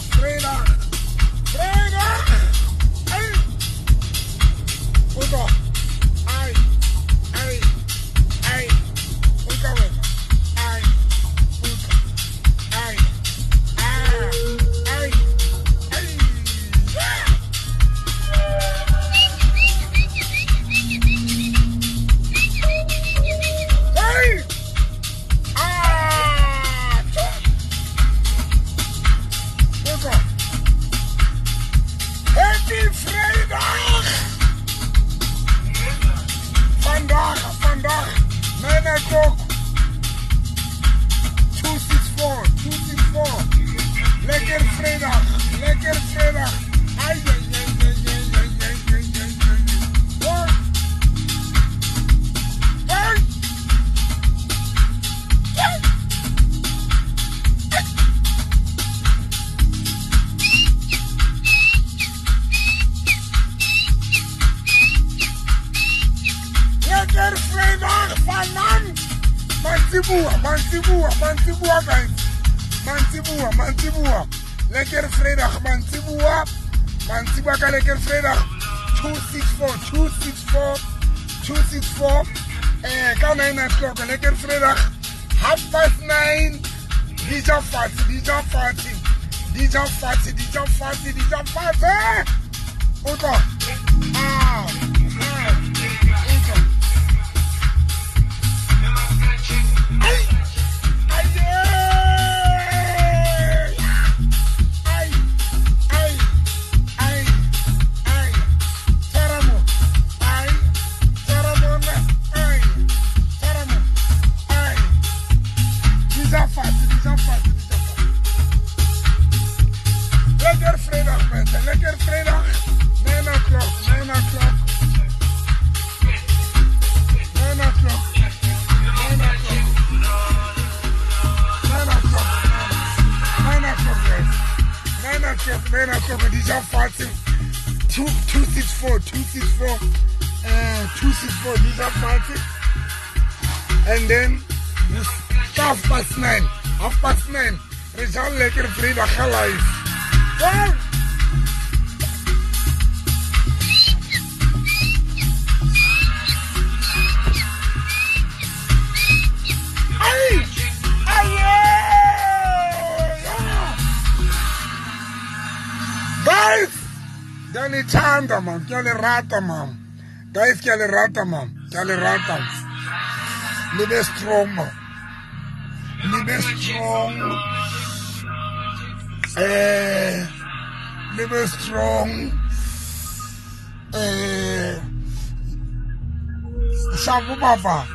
Vrijdag, vrijdag. Vrijdag. Ai. Uto. Ai. Ai. Ai. Uto wena. Ai. Uto. Ai. Ah. Ai. Ai. Ai. Ah. Uto. Happy Vrijdag! Vandaag, vandaag, 9 o'clock, 264, 264. Lekker vrijdag, lekker vrijdag. Ai, ai, ai, ai, ai, ai, ai, ai, ai, ai. Hoi. Hoi. Hoi. Lekker vrijdag vanavond. Mantsiboa, mantsiboa, mantsiboa guys. Mantsiboa, mantsiboa. Lekker vrijdag, mantsiboa. Mantsiboa ka lekker vrijdag. 264, 264, 264. Ka 9 o'clock, lekker vrijdag. 9:30. Dija Fati, Dija Fati. Dija Fati, Dija Fati, Dija Fati. Uto. Ah. Ah. Uto. Ai! Ai! Ai! Ai! Ai! Ai! Taramo! Ai! Taramona! Ai! Taramo! Ai! Dija Fati, Dija Fati, Dija Fati. Lekker vrijdag mensen, lekker vrijdag. 9 o'clock, 9 o'clock. 9 o'clock. 9 o'clock. 9 o'clock. 9 o'clock, guys. 9 o'clock, 9 o'clock. Dija Fati. 264, 264, 264, Dija Fati. And then 9:30, 9:30. Rizal lekker vrijdag live. Wow! Ai! Ai! Guys! Ke a le thanda man, ke a le rata man. Guys, ke a le rata man, ke a le rata. Le be strong man. Le be strong. Le be strong. Shabu baba.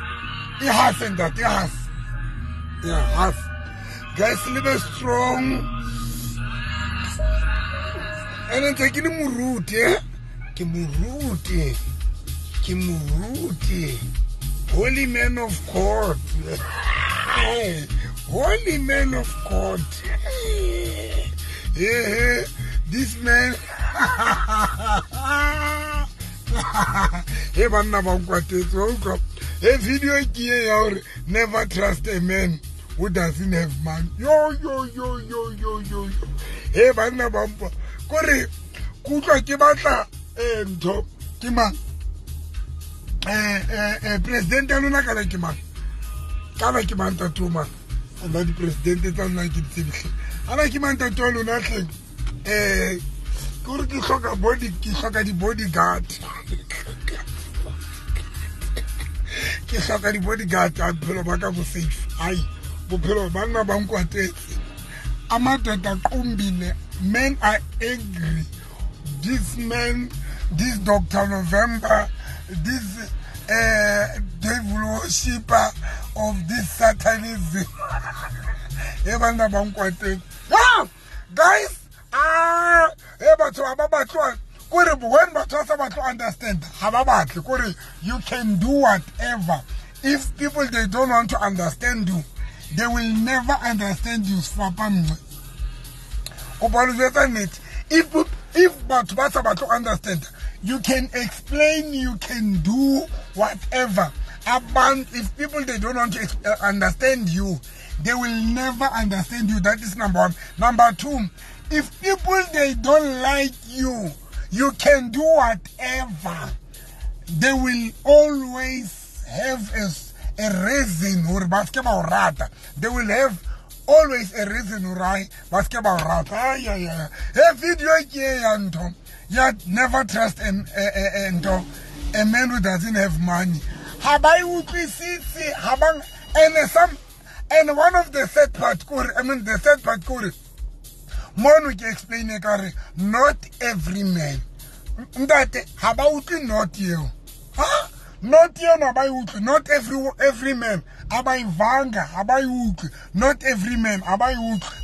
E has and that, e has. Yeah, has. Guys, le be strong. And then ke le moruti, eh? Ke moruti. Ke moruti. Holy man of God. Holy man of God. Yeah, this man. Hey, banna ba nkwatetse, wa utlwa? Hey, video ke e ya hore never trust a man who doesn't have money. Yo, yo, yo, yo, yo, yo, yo. Hey, banna ba mpa. Kore, ke utlwa ke batla ntho ke mang? President ya lona kana ke mang? Kana ke mang ntate mang? Nna di-president tsa lona ke di tsebe hle. Ana ke mang ntate wa lona hleng? Ke hore ke hloka body, ke hloka di-bodyguard. Ke hloka di-bodyguard a bophelo ba ka bo safe. Ai, bophelo banna ba nkwatetse. Amadoda qumbile. Men are angry. This man, this Dr. November, this devil worshipper of this satanism. Ah, guys, ah, when batho understand, you can do whatever. If people they don't want to understand you, they will never understand you. If batho ba sa batle understand, you can explain, you can do whatever. If people they don't want to understand you, they will never understand you. That is number one. Number two, If people they don't like you, you can do whatever. They will always have a reason hore ba ske ba o rata. They will have always a reason hore ba ske ba o rata. Ay, ay, ay. He video ke ya ntho ya never trust a man who doesn't have money. Ha ba e utlwisise, ha ba, and some, and one of the sad part kore, I mean the sad part kore, mono ke explain e ka re not every man. Ntate ha ba utlwe not eo. Ha? Not eo na ba e utlwe. Not every man. Ha ba e vanga, ha ba e utlwe. Not every man ha ba e utlwe.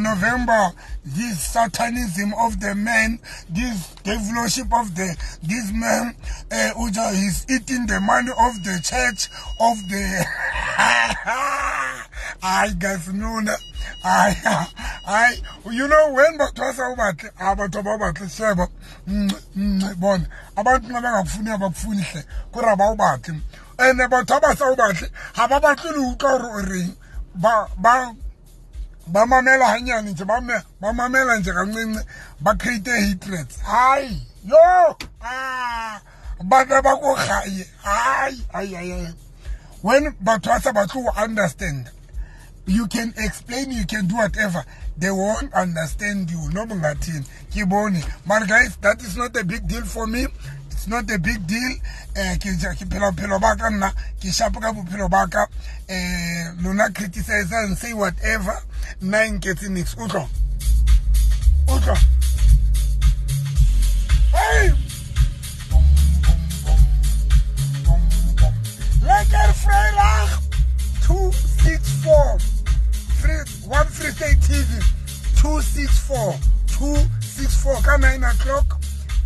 November, this satanism of the man, this devilship of the this man, Uja is eating the money of the church of the. I guess no, I you know when batho ba sa o batle, a batho ba batle sheba, bona abantu ba bangakufuni abakufuni hle, kore ba o batle. And batho ba sa o batle, ha ba batle le utlwa hore o reng, ba mamela hanyane nje, ba mamela nje kancinci, ba create hatred. Hayi, yo, ah, ba ba ko gae. Hayi, ay ay ay. When batho ba sa batle ho understand, you can explain, you can do whatever, they won't understand you. No bungathini ke bone. But guys, that is not a big deal for me. It's not a big deal. Ke phela bophelo ba ka nna, ke shapo ka bophelo ba ka. Lona criticize and say whatever. Nna nketse nix. Utlwa. Utlwa. Hey! Bom, bom, bom. Bom, bom. Lekker Vrydag 264. One Free State TV 264 264 ka 9 o'clock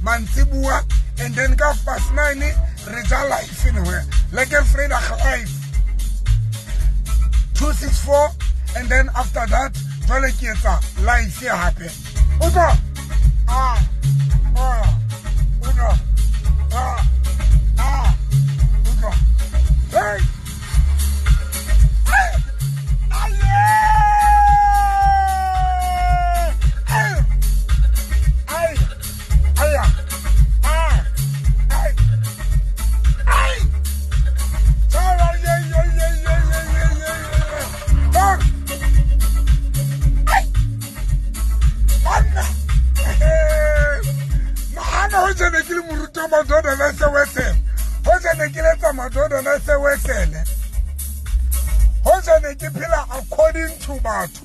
mantsibuwa, and then ka 9:30 re ja live anywhere. Lekker Vrydag live 264, and then after that jwale ke etsa live hape. Utlwa. Ah ah utlwa. Ah ah utlwa. Hey. According to batho.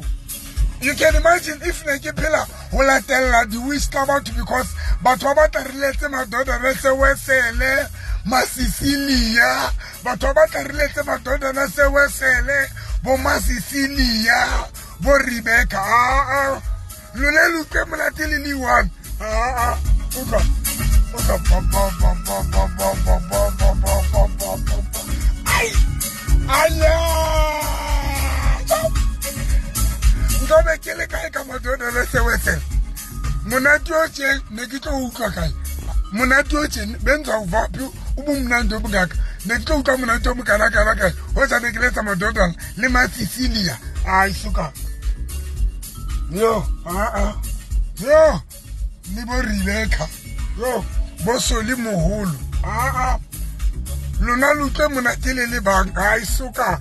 You can imagine if ne ke phela ho latella di wish tsa batho, because batho ba batla re letse madoda re se wesele Masisilia, batho ba batla re letse madoda re se wesele bo Masisilia bo Rebecca. Ah ah, lone le utlwe monate le le one. Ah ah, utlwa utlwa ba ba ba ba ba ba ba ba ba ba ba ba. Ai aya, nkabe ke le kae ka madoda le sewesele. Monate o tje ne ke tlo utlwa kae? Monate o tje benza uvaphi ubumnandi obungaka? Ne ke tlo utlwa monate o mokana kana kae? Ho tsa ne ke letsa madoda le Masisilia. Ai suka. Yo, ah ah. Yo, le bo Rebecca. Yo, bo Soli moholo. Ah ah. Lona le utlwe monate le le bang. Ai suka.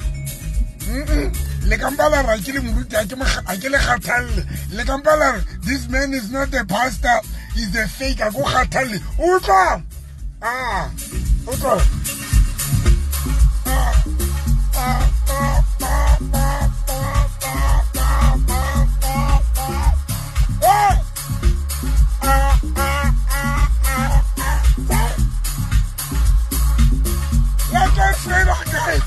Le kampala ra ke le moruti a ke le kgathalle. Le kampala re this man is not a pastor, is a fake. A go kgathalle. Utlwa. Ah, utlwa. Ah, ah, ah, ah, ah, ah, ah, ah, ah, ah, ah, ah, ah, ah. Lekker Vrydag, guys.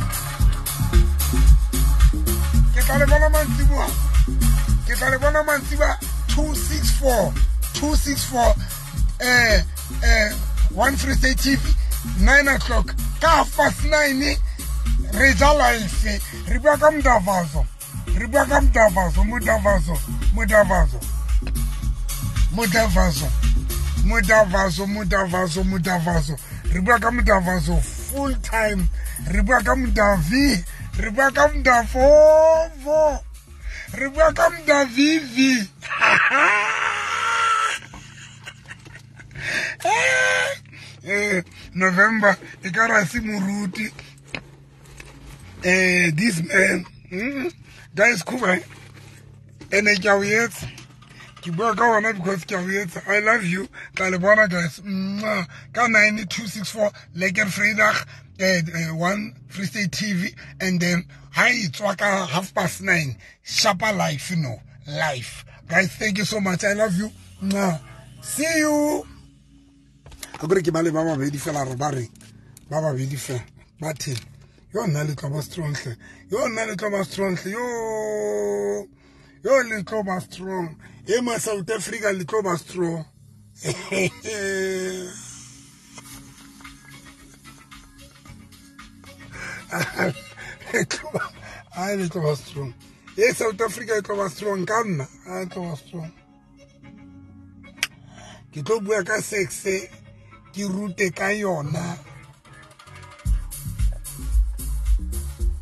Ke tla le bona mantsibuwa. Ke tla le bona mantsibuwa 264 264 One Free State TV 9 o'clock. Ka 9:30 re ja live. Re bua ka Mdavazo. Re bua ka Mdavazo, Mdavazo, Mdavazo. Mdavazo. Mdavazo, Mdavazo, Mdavazo. Re bua ka Mdavazo full time. Re bua ka Mdavi. Re bua ka Mdavovo. Re bua ka Mdavivi. November e ka ra se moruti. This man, guys, cool. Ene ke a o etsa. Ke bua ka ona because ke a o etsa. I love you. Tla le bona guys. Ka 9264 Lekker Vrydag, 1 Free State TV, and then ha e tswa ka 9:30 Shapa Life, no life. Guys, thank you so much. I love you. See you. Akore ke ba le ba babedi fela re ba re ba babedi fela ba theng. Yo nna le tlo ba strong hle. Yo nna le tlo ba strong hle. Yo le tlo ba strong. E ma South Africa le tlo ba strong. Ai le tlo ba strong. E South Africa e tlo ba strong ka nna. Ai tlo ba strong. Ke tlo bua ka sex, ke rute ka yona.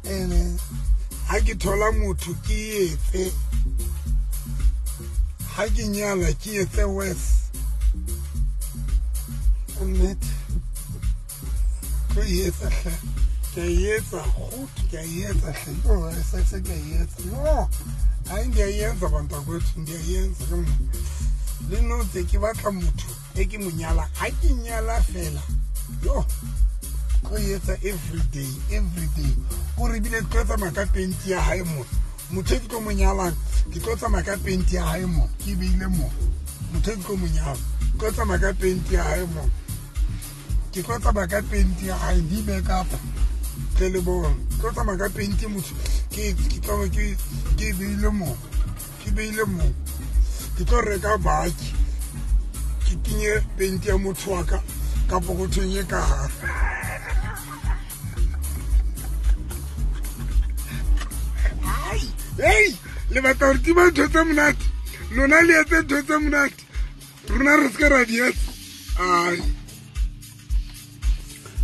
Ene ha ke thola motho ke etse, ha ke nyala ke etse worse. Nnete tlo etsa hle, ke etsa goot, ke etsa hle. Yo sex ke etsa. No, ha ndiyayenza bantakwethu, ndiyayenza. Le no tse ke batla motho e ke mo nyala, ha ke nyala fela. Yo tlo etsa every day, every day. O re bile tlo tsamaya ka penti ya hae mo. Motho e ke tlo mo nyalang, ke tlo tsamaya ka penti ya hae mo. Ke beile mo. Motho e ke tlo mo nyalang, tlo tsamaya ka penti ya hae mo. Ke tlo tsamaya ka penti ya hae, di make up. Tle le bona. Tlo tsamaya ka penti motho. Ke tlo ke beile mo. Ke beile mo. Ke tlo reka baki. Ke kenye penti ya motho wa ka ka pokothong e ka hare. Hey, le batla hore tima ntho tse monate. Lona le etse ntho tse monate. Rona re se ra di etsa. Ai.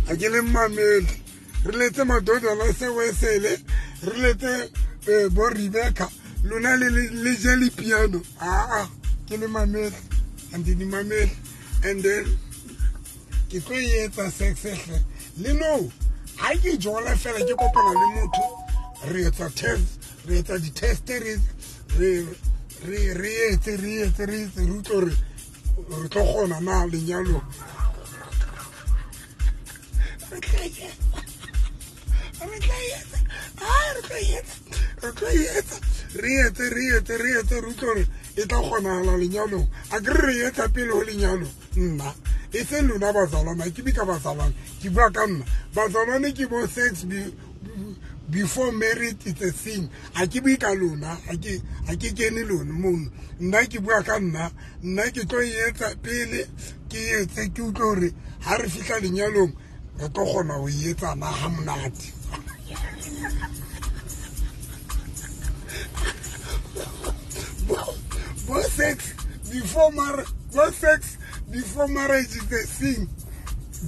A ke le mamele. Re letse madodana se wesele, re letse bo Rebecca. Lona le le je le piano. Ah, ke le mamele. And di mamele. And then ke tlo etsa sex hle. Le no, ha ke jola fela ke kopana le motho, re etsa test. Re etsa di-test, re etse re etse re etse, re utlwe hore re tlo kgona na lenyalong. Re tla etsa, re tla etsa, re tla etsa, re tlo etsa, re etse re etse re etse, re utlwe hore e tla kgonahala lenyalong. A ke re etsa pele ho lenyalo nna. E seng lona bazalwane, ha ke bue ka bazalwane, ke bua ka nna. Bazalwane ke bo sex before marriage it's a sin. Ha ke bue ka lona, ha ke kene lona mono. Nna ke bua ka nna, nna ke tlo etsa pele, ke etse ke utlwe hore ha re fihla lenyalong re tlo kgona ho etsa na ha monate. Bo sex before marriage, bo sex before marriage is a sin.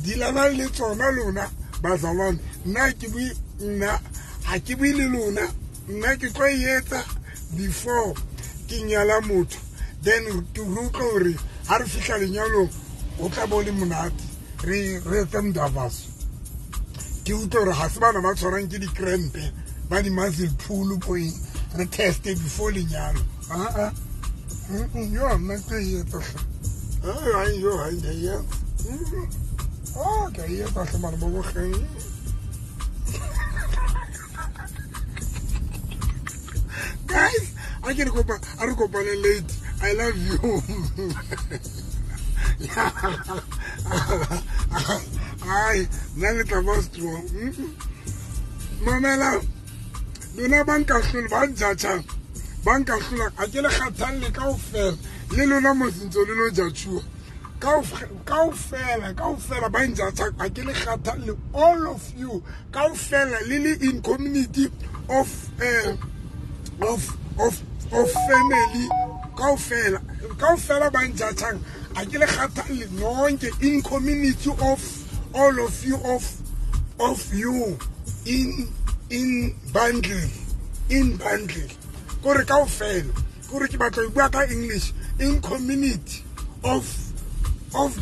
Dilana le tsona lona bazalwane. Nna ke bue nna, ha ke bue le lona, nna ke tlo etsa before ke nyala motho. Then ke utlwe hore ha re fihla lenyalong o tla bo le monate. Re etse mdavaso. Ke utlwe hore ha se bana ba tshwarang ke di-cramp, ba di-muscle pull point. Re teste before lenyalo. Ah ah. Yo nna ke etsa hle. Ai yo ai ya. Oh, ke etsa hle mara bo bogeng. Guys, I can go back. I go back late. I love you. Ai, nna le tla ba strong. Mamela, lona ba nka hlola, ba njatjang, ba nka hlola, ha ke le kgathalle kaofela. Le lona mosintso le lo jatjhuwa. Kaofela, kaofela ba njatjang, ha ke le kgathalle, all of you, kaofela le le in community of family, kaofela, kaofela ba njatjang, ha ke le kgathalle nonke in community of all of you, of you in bundle, in bundle. Kore kaofela. Kore ke batla ho bua ka English in community of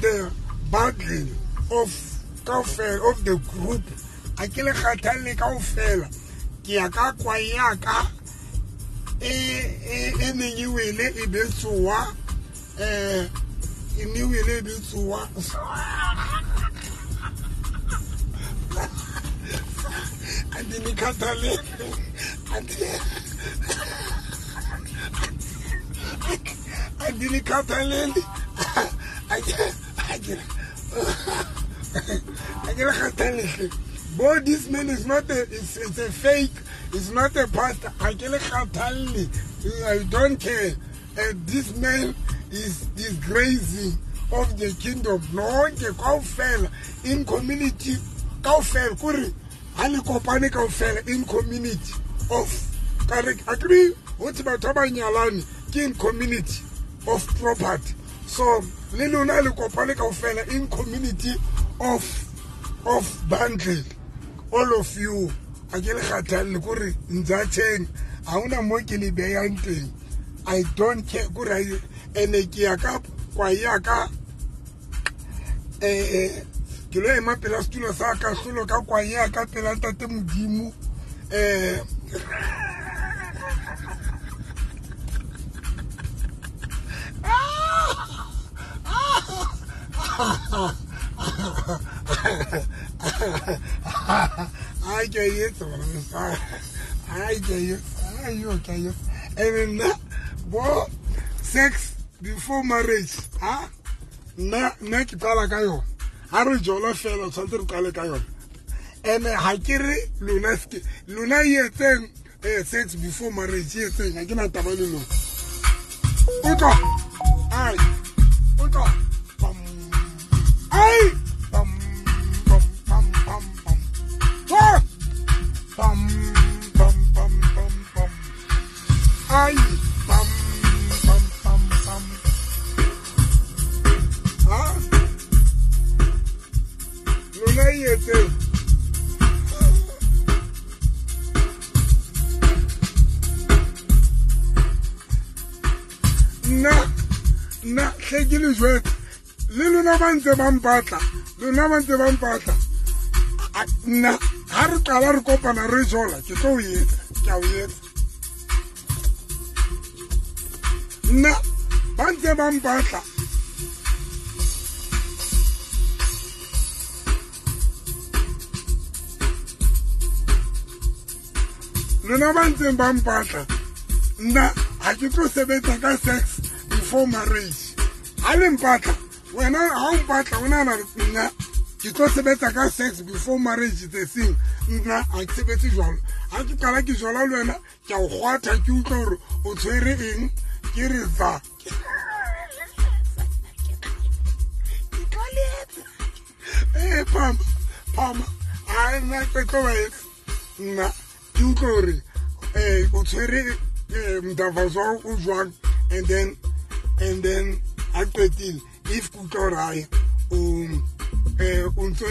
the bundle of kaofela of the group. A ke le kgathalle kaofela. Ke ya ka kwae ya ka e neng e wele e betsoa e ne wele e betsoa Bo, this man is not a, it's a fake, it's not a pastor. I don't care. And this man is disgracing of the kingdom. No, in community, in community of agree what about in community of property. So le lona le kopane kaofela in community of bundle. All of you. A ke le kgathalle kore ntsa tjheng ha hona mo ke le behang teng. I don't care kore ene ke ya ka kwa ya ka ke lo ema pela setulo sa ka hlolo ka kwa ya ka pela ntate Modimo I get it. I get it. I and then bo sex before marriage, ha? Nna ke qala ka yona. Ha re jola fela tshwantse re qale ka yona. And ha ke re lona ske lona e etseng sex before marriage e etseng ha ke na taba le lona. Utlwa. Ai. Utlwa. Pam. Ai. Pam pam pam pam pam. Pam pam pam pam pam. Ai. Pam pam pam pam. Ah. Lona e etseng. Nna hle ke le jwetse le lona ba ntse ba mpatla, lona ba ntse ba mpatla. Nna ha re qala re kopana re jola ke tlo o etsa, ke a o etsa. Nna ba ntse ba mpatla. Lona ba ntseng ba mpatla. Nna ha ke tlo sebetsa ka sex before marriage. Ha le mpatla, wena ha o mpatla o nahana nna ke tlo sebetsa ka sex before marriage the thing. Nna ha ke sebetse jwalo. Ha ke qala ke jwala le wena ke a o kgwatha ke utlwa hore o tshwere eng ke re za. Ke tlo le etsa. Pam pam a nna ke tlo ba etsa. Nna ke utlwa hore o tshwere mdavazo o jwang and then a qetile if ke utlwa hore hae o ntso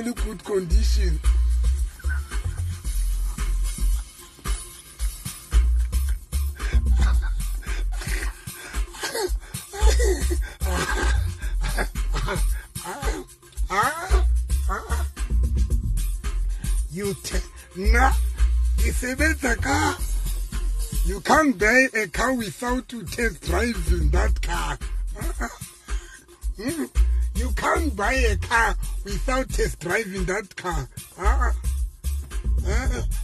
le good condition. You na ke sebetsa ka. You can't buy a car without to test driving that car. You can't buy a car without test driving that car.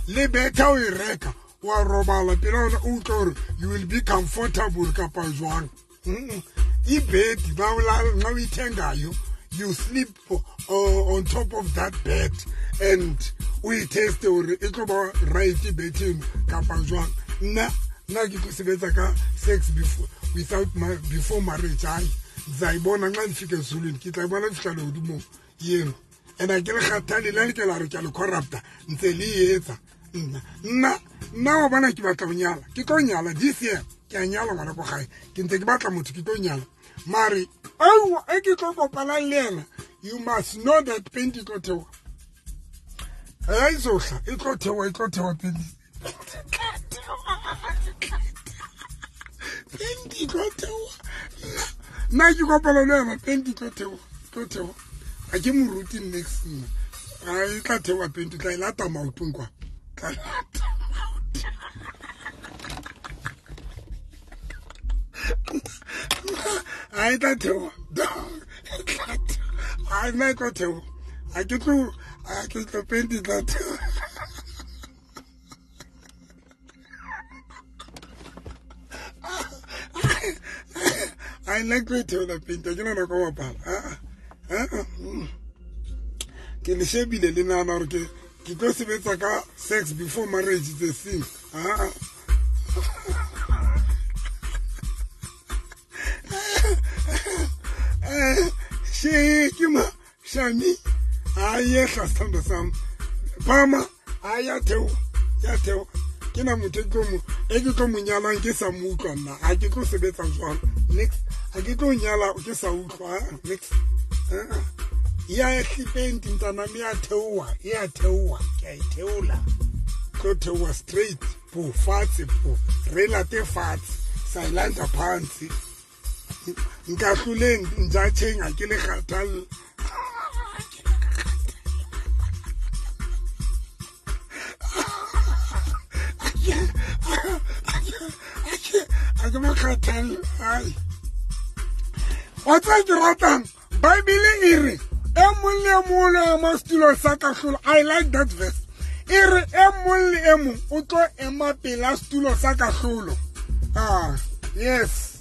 Le better o e reka wa robala pele o utlwa hore you will be comfortable kapa jwang. Ibed ba o nxa o ithengayo, you sleep on top of that bed and o test hore e tlo ba right bed eno kapa jwang. Nna ke tlo sebetsa ka sex before without before marriage. Ai nzayibona nxa ndifika ezulwini ke tla bona fihla lehodimong yeno. And a ke le kgathale le ke la re ke a le corrupta ntse le etsa. Nna wa bona ke batla ho nyala, ke tlo nyala this year, ke a nyala ngwana ko gae, ke ntse ke batla motho ke tlo nyala. Mare au e ke tlo kopanang le yena, you must know that paint e tlo theoha. E tlo theoha, e tlo theoha paint. Nna ke kopana le wena penti tlo theoha, tlo theoha. Ha ke moruti next nna. A e tla theoha penti, tla e lata maotong kwa. Tla lata maotong. A e tla theoha. A nna e tlo theoha. A ke tlo, a ke tlo penti tla theoha. I like to tell the painter, ke nana ka bapala. Ke le shebile le nahana hore ke tlo sebetsa ka sex before marriage is a sin. She ke ma shami a yehla sithando sami. Phama a ya theoha, ya theoha. Ke na motho e ke tlo mo nyalang ke sa mo utlwa nna. Ha ke tlo sebetsa jwalo. Next, ha ke tlo nyala ke sa utlwa. Next. Ya hlipenti ntana me ya theoha, ya theoha, ke a e theola. Tlo theoha straight, po fatshe po. Re late fatshe, silent phansi. Nka hloleng njatsheng ha ke le kgathalle. A ke mo kgathalle. Ai. Wa tseba ke ratang? Bible e re e mong le e mong o ema setulong sa kahlolo. I like that verse. E re e mong le e mong o tlo ema pela setulo sa kahlolo. Ah, yes.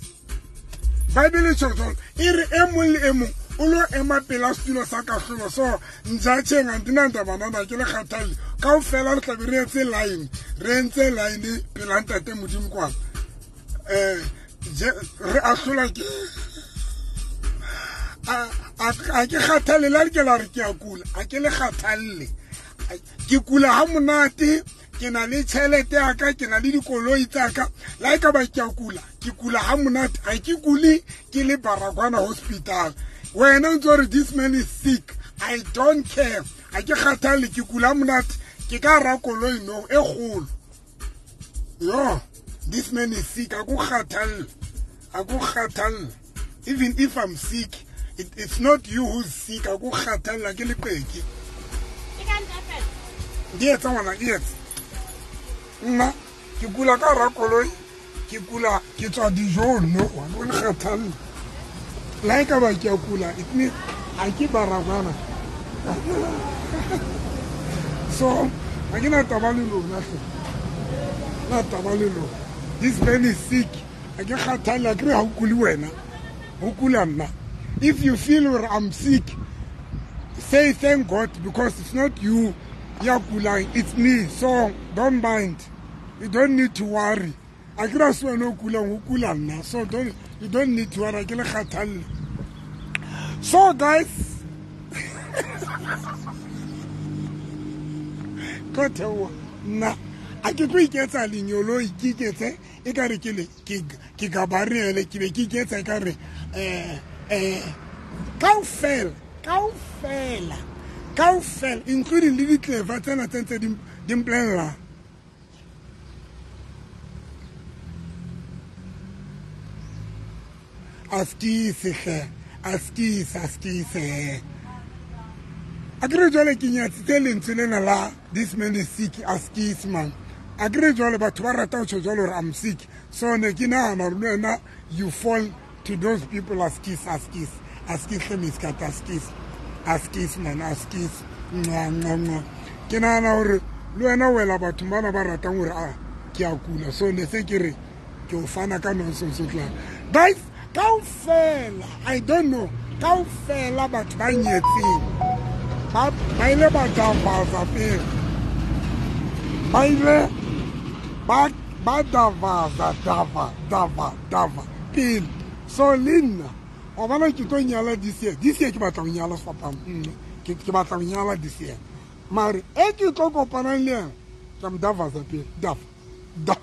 Bible e tjho jwalo. E re e mong le e mong o lo ema pela setulo sa kahlolo. So njatsheng andinandaba nana ke le kgathalle. Kaofela re tla be re etse line. Re entse line pela ntate Modimo kwana. Re ahlola ke a ke kgathalle la ke la re ke a kula, a ke le kgathalle. Ke kula ha monate, ke na le tjhelete ya ka, ke na le dikoloi tsa ka. La e ka ba ke a kula, ke kula ha monate, ha ke kule ke le Baragwana hospital. Wena o ntso re this man is sick, I don't care. Ha ke kgathalle, ke kula ha monate, ke ka ra koloi no e kgolo. Yo, this man is sick, a go kgathalle, a go kgathalle. Even if I'm sick, it's not you who's sick. A go kgathalle ke le qeke. Di etsa ngwana, di etsa. Nna ke kula ka ra koloi, ke kula ke tswa dijong no, wa go kgathalle. La e ka ba ke a kula, it means ha ke Baragwana. So, ha ke na taba le lona hle. Na taba le lona. This man is sick. Ha ke kgathalle, ke re ha o kule wena. Ho kula nna. If you feel I'm sick, say thank God, because it's not you ya kulang, it's me. So don't mind. You don't need to worry. A ke ra se wena o kulang, ho kula nna. So don't, you don't need to worry. Ke le kgathalle. So guys, tlo theoha nna. A ke tlo iketsa lenyoloi, ke iketse e ka re ke le ke Gabriele, ke be ke iketsa e ka re kaofela, kaofela, kaofela, including le ditleva tsena tse ntse di mpolella. Askise hle, askise, askise. A ke re jwale ke nyatsitse lentswe lena la this man is sick, askise man. A ke re jwale batho ba rata ho tjho jwalo hore I'm sick. So ne ke nahana hore le wena you fall to those people. Askis, askis, askis hle miskata, askis, askis man, askis. Nwa, nwa, nwa. Ke nahana hore le wena wela batho bana ba ratang hore a ke a kula. So ne se ke re ke o fana ka nonsense tla. Guys, kaofela, I don't know, kaofela batho ba nyetseng ba ile ba davaza pele. Ba ile ba davaza, dava, dava, dava pele. So le nna wa bona ke tlo nyala this year. This year ke batla ho nyala sefapano. Ke batla ho nyala this year. Mare e ke tlo kopanang le yena, ke mo davaza pele. Dava, dava.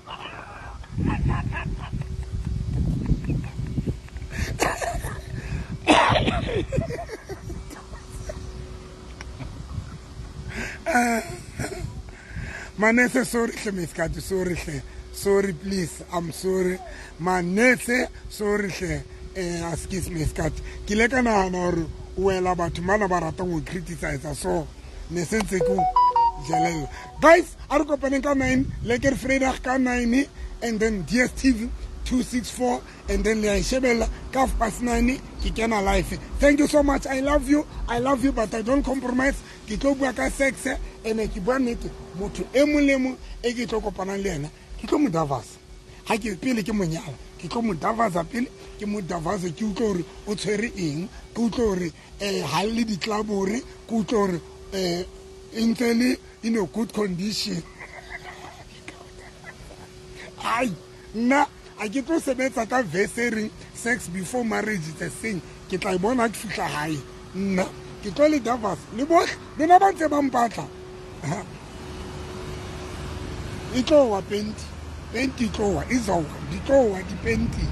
Manese, sorry hle miskati, sorry hle, sorry please, I'm sorry. Manese, sorry hle. Excuse me skat ke le ka nahana hore o wela batho mana ba ratang ho criticize so ne sentse ke jelela. Guys, a re kopaneng ka 9 lekker Vrydag ka 9 and then DStv 264 and then le a shebella ka 9:30 ke kena live. Thank you so much. I love you. I love you, but I don't compromise. Ke tlo bua ka sex ene ke bua nnete. Motho e mong le mong e ke tlo kopanang le yena ke tlo mo davasa. Ha ke pele ke monyala ke tlo mo davasa pele ke mo davasa ke utlwe hore o tshwere eng, ke utlwe hore ha le ditlabore, ke utlwe hore e ntse le in a good condition. Ai nna a ke tlo sebetsa ka verse e reng sex before marriage is a sin. Ke tla e bona ke fihla hae. Nna ke tlo le davasa le bohle lona ba ntse ba mpatla. E tlo wa penti penti tlo wa izowa di tlo wa dipenti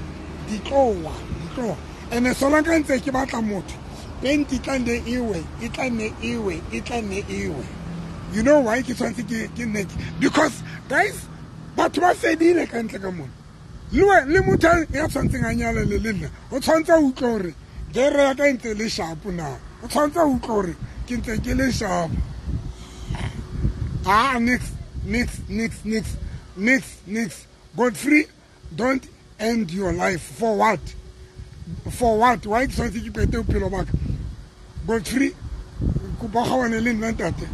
di tlo wa di tlo. Ene sola ka ntse ke batla motho penti tla nne ewe e tla nne ewe e tla nne ewe. You know why ke tshwantse ke nne? Because guys, batho ba fedile ka ntle ka mona. Le motho ya tshwantseng a nyale le le nna o tshwantse a utlwe hore gere ya ka ntse le sharp na. O tshwantse a utlwe hore ke ntse ke le sharp. Ah, next next next next next next. Godfrey, don't end your life. For what? For what? Why ke tshwantse ke qete bophelo ba ka? Godfrey, kopa kgaohane le nna ntate.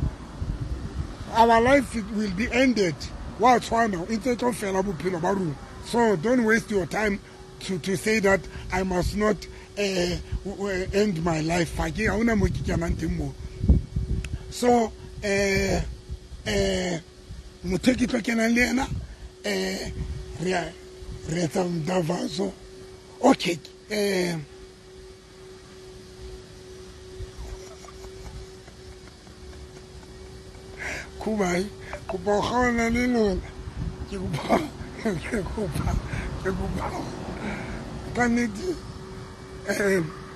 Our life will be ended. Wa tshwana e ntse tlo fela bophelo ba rona. So don't waste your time to say that I must not end my life. So motho ke tlo kenang le yena re etsa mdavazo. Okay, Kubai kopa kgaohana le lona. Ke kopa ke kopa ka nnete.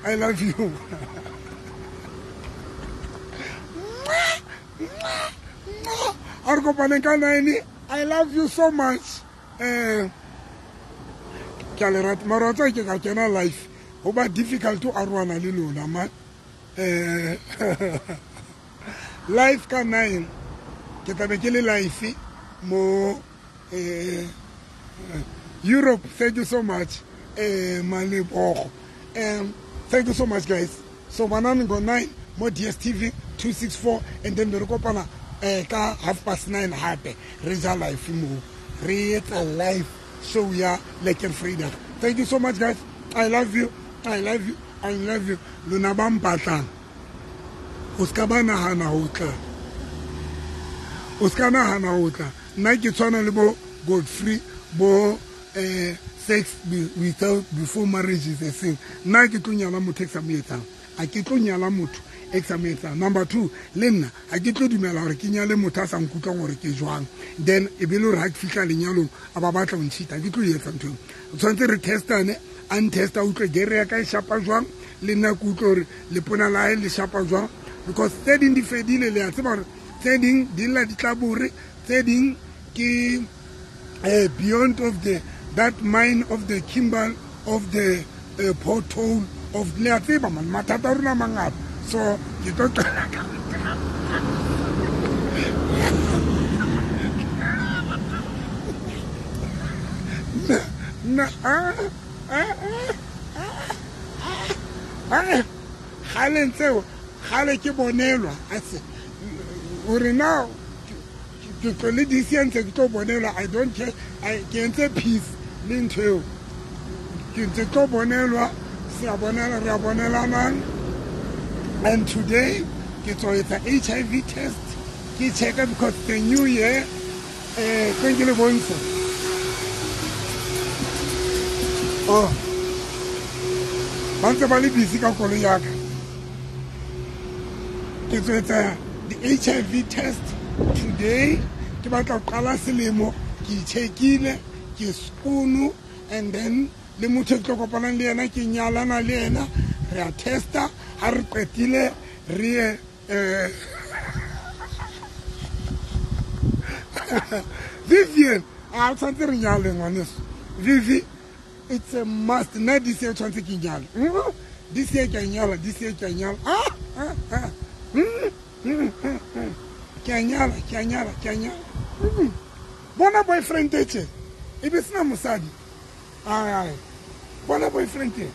I love you. A re kopaneng ka 9. I love you so much. Ke a le rata mara wa tseba ke ka kena life ho ba difficult ho arohana le lona man. Life ka 9 ke tla be ke le life mo Europe. Thank you so much, Malebogo. Thank you so much, guys. So banana go 9 mo DStv 264 and then re kopana ka 9:30 hape re ja life mo re etsa live show ya Lekker Vrydag. Thank you so much, guys. I love you. I love you. I love you. Lona ba mpatlang o ska ba nahana ho tla. O ska nahana ho tla. Nna ke tshwana le bo Godfrey bo sex without before marriage is a sin. Nna ke tlo nyala motho e ke sa mo etsang. A ke tlo nyala motho e ke sa mo etsang. Number 2, le nna a ke tlo dumela hore ke nyale motho a sa nkutlwang hore ke jwang. Then e be le hore ha ke fihla lenyalong a ba batla ho ntshita. Ke tlo etsa ntho eo. O tshwanetse re testane, a ntesta utlwe gere ya ka e shapa jwang, le nna ke utlwe hore lepona la hae le shapa jwang. Because tse ding di fedile, le a tseba hore tse ding di lla di tlabore, tse ding ke beyond of the that mine of the Kimball of the pothole of le a tseba man mathata a rona mangata. So ke tlo qala ka na gale ntseo gale ke bonelwa ase hore now ke tlo le this year ntse ke tlo bonelwa. I don't care. Ke entse peace le ntho eo. Ke ntse tlo bonelwa se a bonela re a bonelanang. And today ke tlo etsa HIV test ke checka because the new year thank you le bontsha. Oh, ba ntse ba le busy ka koloi ya ka. Ke tlo etsa the HIV test today. Ke batla ho qala selemo ke itshekile ke skono and then le motho e ke tlo kopanang le yena ke nyalana le yena re a testa. Ha re qetile re ye Vivian a tshwantse re nyale ngwaneso. Vivi It's a must. Nna this year tshwanetse ke nyala. This year ke a nyala, this year ke a nyala. Ah, ah, ah. Ke a nyala, ke a nyala, ke a nyala. Bona boyfriend e tje. E be sena mosadi. Ai ai. Bona boyfriend e.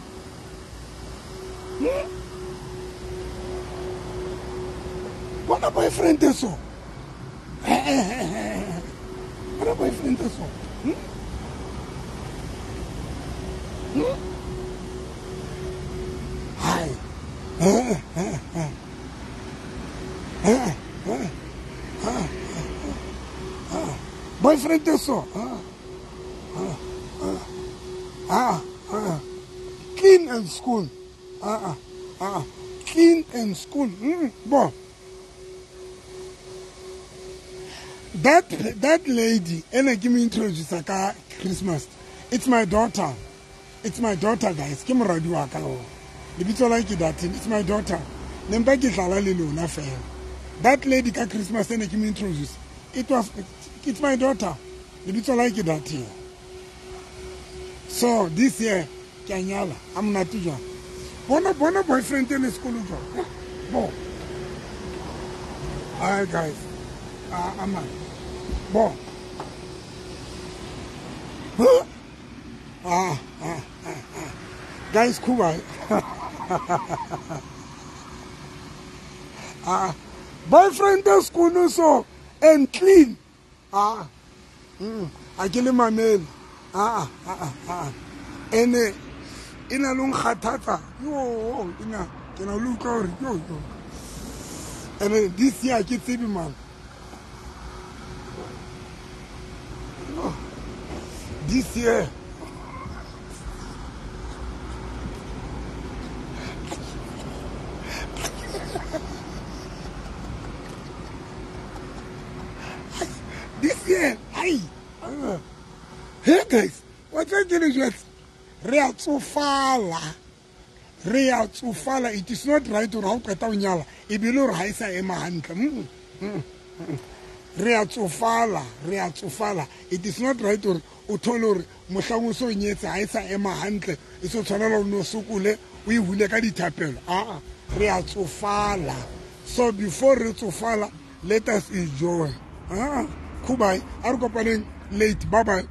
Bona boyfriend e so. Bona boyfriend e so. Hai. Boyfriend e so. Clean and school. Clean and school. Bo. That lady, and give me introduce ka Christmas. It's my daughter. It's my daughter, guys. Ke moradi wa ka o. Lebitso la ke Datin. It's my daughter. Ne mpa ke tlala le lona fela. That lady ka Christmas ene ke me introduce. It's my daughter. Lebitso la ke Datin. So this year ke a nyala. A monate jwang. Bona bona boyfriend e le sekolo jwang. Bo. Hi guys. Aman. Bo. Huh? Guys, Kuba. Boyfriend is school so and clean. A ke le mamele. Ene ina lo nkgathatsa. Yo, ina ke na lo utlwa hore yo yo. Ene this year ke tsebe man. This year. This year, ai. Hey guys, what are you doing? Re a tsofala. Re a tsofala. It is not right hore ha o qeta ho nyala e be le hore ha e sa ema hantle. Re a tsofala, re a tsofala. It is not right hore o thole hore mohlang o so nyetse ha e sa ema hantle, e so tshwanela o no sokole o e hule ka dithapelo. Ah, re a tsofala. So before re tsofala, let us enjoy. Ah, Kubai, a re kopaneng late. Bye bye.